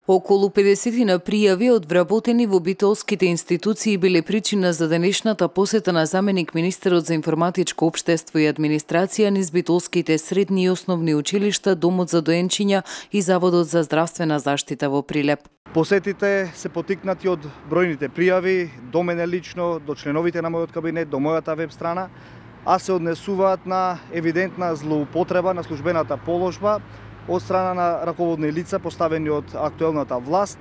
Околу 50 пријави од вработени во битолските институции биле причина за денешната посета на заменик министерот за информатичко општество и администрација низ битолските средни и основни училишта, Домот за доенчиња и Заводот за здравствена заштита во Прилеп. Посетите се потикнати од бројните пријави до мене лично, до членовите на мојот кабинет, до мојата веб страна, а се однесуваат на евидентна злоупотреба на службената положба од страна на раководни лица поставени од актуелната власт,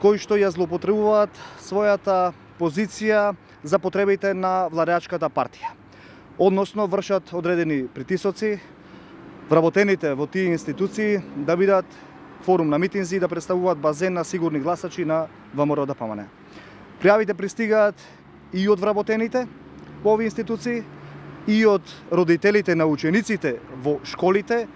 кои што ја злоупотребуваат својата позиција за потребите на владеачката партија. Односно вршат одредени притисоци вработените во тие институции да бидат форум на митинзи и да представуваат базен на сигурни гласачи на ВМРО-ДПМНЕ. Пријавите пристигаат и од вработените во овие институции, и од родителите на учениците во школите,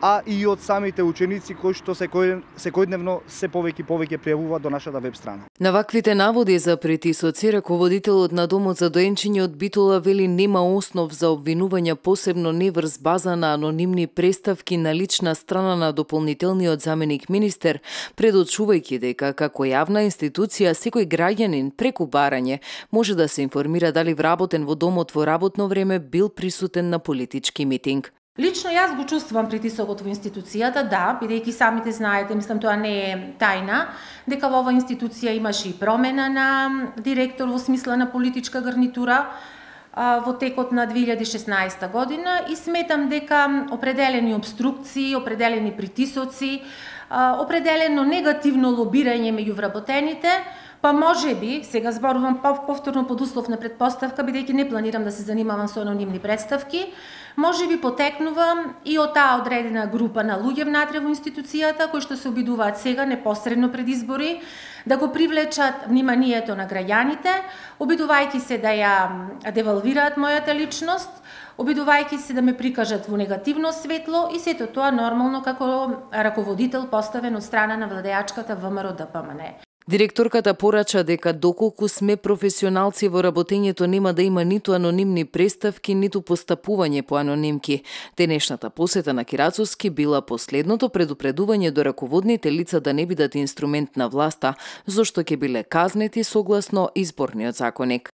а и од самите ученици кои што секојдневно се повеќе пријавуваат до нашата веб страна. На ваквите наводи за притисоци, раководителот на Домот за доенчиње од Битола вели нема основ за обвинување, посебно не врз база на анонимни преставки на лична страна на дополнителниот заменик министер, предочувајќи дека како јавна институција секој граѓанин преку барање може да се информира дали вработен во домот во работно време бил присутен на политички митинг. Лично јас го чувствувам притисокот во институцијата, да, бидејќи самите знаете, мислам тоа не е тајна, дека во оваа институција имаше и промена на директор во смисла на политичка гарнитура во текот на 2016 година и сметам дека определени обструкции, определени притисоци, определено негативно лобирање меѓу вработените, па може би, сега зборувам повторно под услов на предпоставка, бидејќи не планирам да се занимавам со анонимни представки, може би потекнува и од таа одредена група на луѓе внатре во институцијата, кои што се обидуваат сега, непосредно пред избори, да го привлечат вниманието на граѓаните, обидувајќи се да ја девалвираат мојата личност, обидувајќи се да ме прикажат во негативно светло и сето тоа нормално како раководител поставен од страна на владеачката ВМРО-ДПМНЕ. Директорката порача дека доколку сме професионалци во работењето нема да има ниту анонимни преставки, ниту постапување по анонимки. Денешната посета на Кирацовски била последното предупредување до раководните лица да не бидат инструмент на власта, зашто ќе биле казнети согласно изборниот законник.